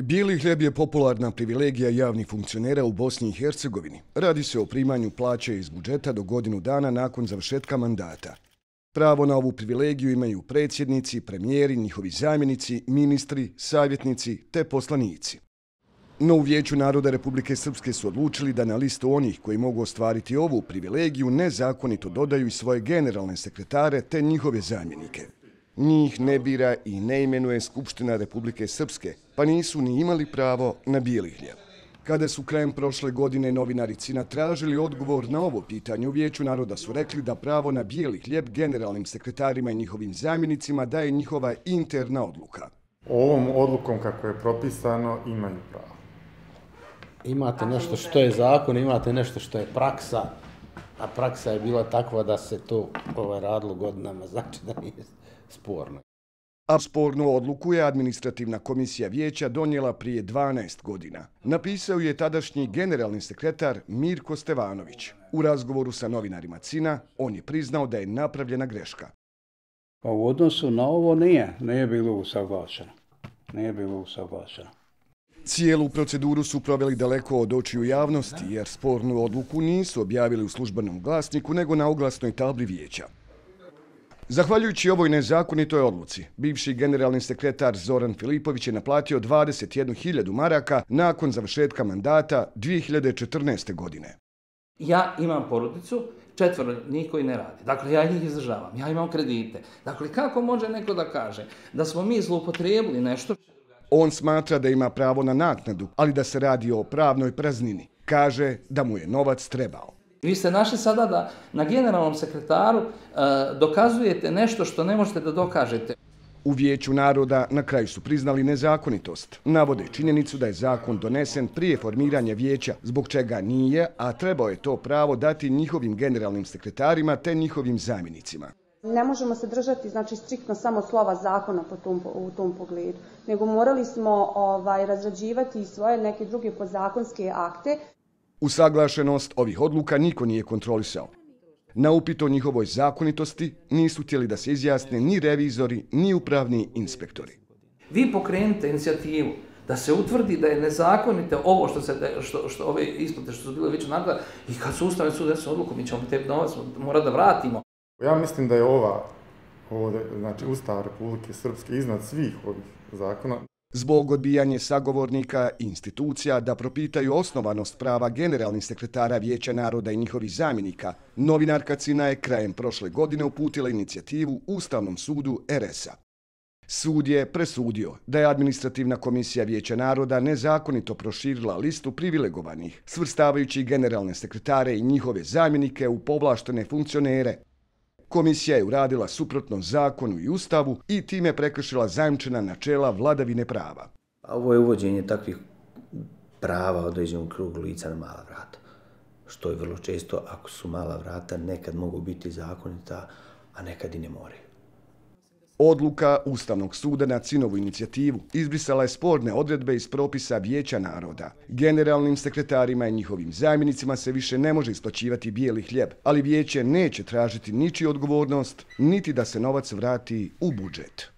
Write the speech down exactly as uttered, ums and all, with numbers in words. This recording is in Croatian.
Bijeli hljeb je popularna privilegija javnih funkcionera u Bosni i Hercegovini. Radi se o primanju plaće iz budžeta do godinu dana nakon završetka mandata. Pravo na ovu privilegiju imaju predsjednici, premijeri, njihovi zamjenici, ministri, savjetnici te poslanici. No u Vijeću naroda Republike Srpske su odlučili da na listu onih koji mogu ostvariti ovu privilegiju nezakonito dodaju i svoje generalne sekretare te njihove zamjenike. Njih ne bira i ne imenuje Skupština Republike Srpske, pa nisu ni imali pravo na bijeli hljeb. Kada su krajem prošle godine novinari C I N A tražili odgovor na ovo pitanje, u Vijeću naroda su rekli da pravo na bijeli hljeb generalnim sekretarima i njihovim zamjenicima daje njihova interna odluka. Ovom odlukom kako je propisano imaju pravo. Imate nešto što je zakon, imate nešto što je praksa, a praksa je bila takva da se to ovaj, radilo godinama, znači da nije sporno. A spornu odluku je administrativna komisija vijeća donijela prije dvanaest godina. Napisao je tadašnji generalni sekretar Mirko Stevanović. U razgovoru sa novinarima C I N A on je priznao da je napravljena greška. Pa u odnosu na ovo nije, nije bilo usaglašeno. Nije bilo usaglašeno. Cijelu proceduru su proveli daleko od očiju javnosti, jer spornu odluku nisu objavili u službenom glasniku, nego na oglasnoj tabli vijeća. Zahvaljujući ovoj nezakonitoj odluci, bivši generalni sekretar Zoran Filipović je naplatio dvadeset jednu hiljadu maraka nakon završetka mandata dvije hiljade četrnaeste. godine. Ja imam porodicu, četvoro njih koji ne radi. Dakle, ja njih izdržavam, ja imam kredite. Dakle, kako može neko da kaže da smo mi zloupotrijebili nešto? On smatra da ima pravo na naknadu, ali da se radi o pravnoj praznini. Kaže da mu je novac trebao. Vi ste našli sada da na generalnom sekretaru uh, dokazujete nešto što ne možete da dokažete. U Vijeću naroda na kraju su priznali nezakonitost. Navode činjenicu da je zakon donesen prije formiranja vijeća, zbog čega nije, a trebao je to pravo dati njihovim generalnim sekretarima te njihovim zamjenicima. Ne možemo se držati, znači, striktno samo slova zakona po tom, u tom pogledu, nego morali smo ovaj, razrađivati i svoje neke druge podzakonske akte. Usaglašenost ovih odluka niko nije kontrolisao. Na upit o njihovoj zakonitosti nisu htjeli da se izjasne ni revizori, ni upravni inspektori. Vi pokrenite inicijativu da se utvrdi da je nezakonite ovo što se, što, što ove isplate što su bile Vijeću naroda i kad su Ustavni sud donese odluku, mi ćemo te novac morati da vratimo. Ja mislim da je ova, ovdje, znači Ustav Republike Srpske iznad svih ovih zakona. Zbog odbijanja sagovornika i institucija da propitaju osnovanost prava generalnih sekretara Vijeća naroda i njihovih zamjenika, novinarka C I N A je krajem prošle godine uputila inicijativu Ustavnom sudu R S a. Sud je presudio da je administrativna komisija Vijeća naroda nezakonito proširila listu privilegovanih, svrstavajući generalne sekretare i njihove zamjenike u povlaštene funkcionere. Komisija je uradila suprotno zakonu i ustavu i time prekršila zajamčena načela vladavine prava. Ovo je uvođenje takvih prava određenog krugu lica na mala vrata, što je vrlo često, ako su mala vrata, nekad mogu biti zakonita, a nekad i ne moraju. Odluka Ustavnog suda na C I N-ovu inicijativu izbrisala je sporne odredbe iz propisa Vijeća naroda. Generalnim sekretarima i njihovim zamjenicima se više ne može isplaćivati bijeli hljeb, ali vijeće neće tražiti ničiju odgovornost, niti da se novac vrati u budžet.